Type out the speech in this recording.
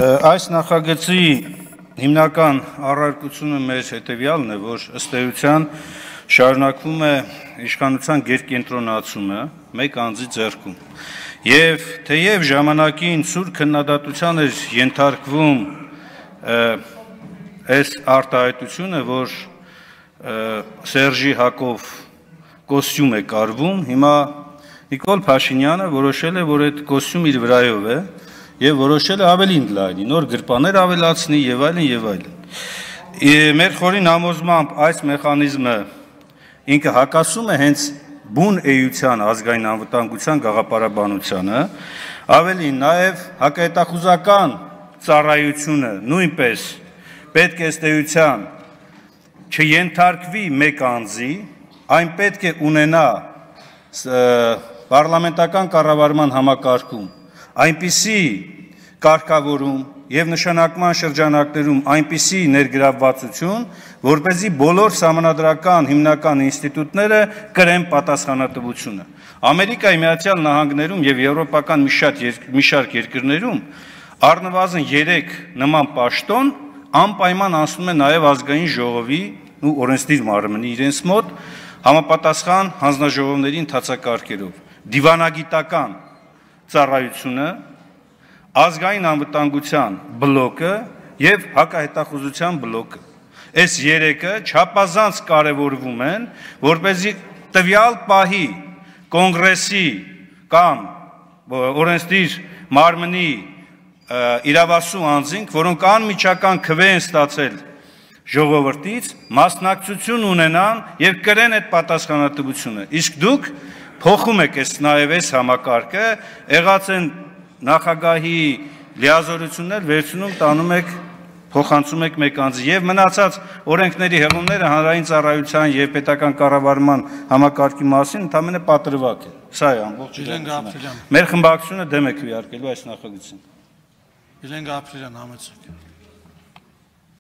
Այս նախագծի հիմնական առարկությունը մեր հետևյալն է, որ ըստ էության շարունակվում է իշխանության գերկենտրոնացումը մեկ անձի ձեռքում։ Եվ թեև ժամանակին սուր քննադատության էր ենթարկվում այս արտահայտությունը, որ Սերժի Հակով կոստյում է կարվում, հիմա Նիկոլ Փաշինյանը որոշել է, որ այդ կոստյումը իր վրայով է եւ որոշել է ավելին լայնի, նոր գրպաններ ավելացնի եւ այլն եւ այլն։ Մեր խորին համոզմամբ այս մեխանիզմը ինքը հակասում է հենց բուն էության ազգային անվտանգության գաղափարաբանությանը, ավելին նաեւ հակահետախուզական ծառայությունը նույնպես պետք է ըստ էության չենթարկվի մեկ անձի, այն պետք է ունենա պարլամենտական կառավարման համակարգում այնպիսի կարգավորում եւ նշանակման շրջանակներում այնպիսի ներգրավվածություն, որպեսզի բոլոր սահմանադրական հիմնական ինստիտուտները կրեն պատասխանատվությունը։ Ամերիկայի Միացյալ Նահանգներում եւ եվրոպական մի շարք երկրներում առնվազն 3 նման պաշտոն անպայման անցնում է նաեւ ազգային ժողովի ու օրենսդիր մարմնի իրենց մոտ համապատասխան հանձնաժողովների ընթացակարգերով։ Դիվանագիտական ծառայությունը, ազգային անվտանգության բլոկը եւ հակահետախուզության բլոկը։ Այս 3-ը չափազանց կարևորվում են, որպեսզի տվյալ պահի կոնգրեսի կամ օրենսդիր մարմնի իրավասու անձինք, որոնք անմիջական քվե են ստացել ժողովրդից, մասնակցություն ունենան եւ կրեն այդ պատասխանատվությունը։ Իսկ դուք փոխում եք նաեւ այս համակարգը, եղած են նախագահի լիազորություններ վերցնում տանում եք փոխանցում եք մեկ անձի եւ մնացած օրենքների հեղումները հանրային ծառայության եւ պետական կառավարման համակարգի մասին ընդհանրապես պատրվակ է։ Սա է ամբողջ իրականությունը։ Մեր խմբակցությունը դեմ է քվեարկելու այս նախագծին։ Իլեն Գաբրելյան համեցեք։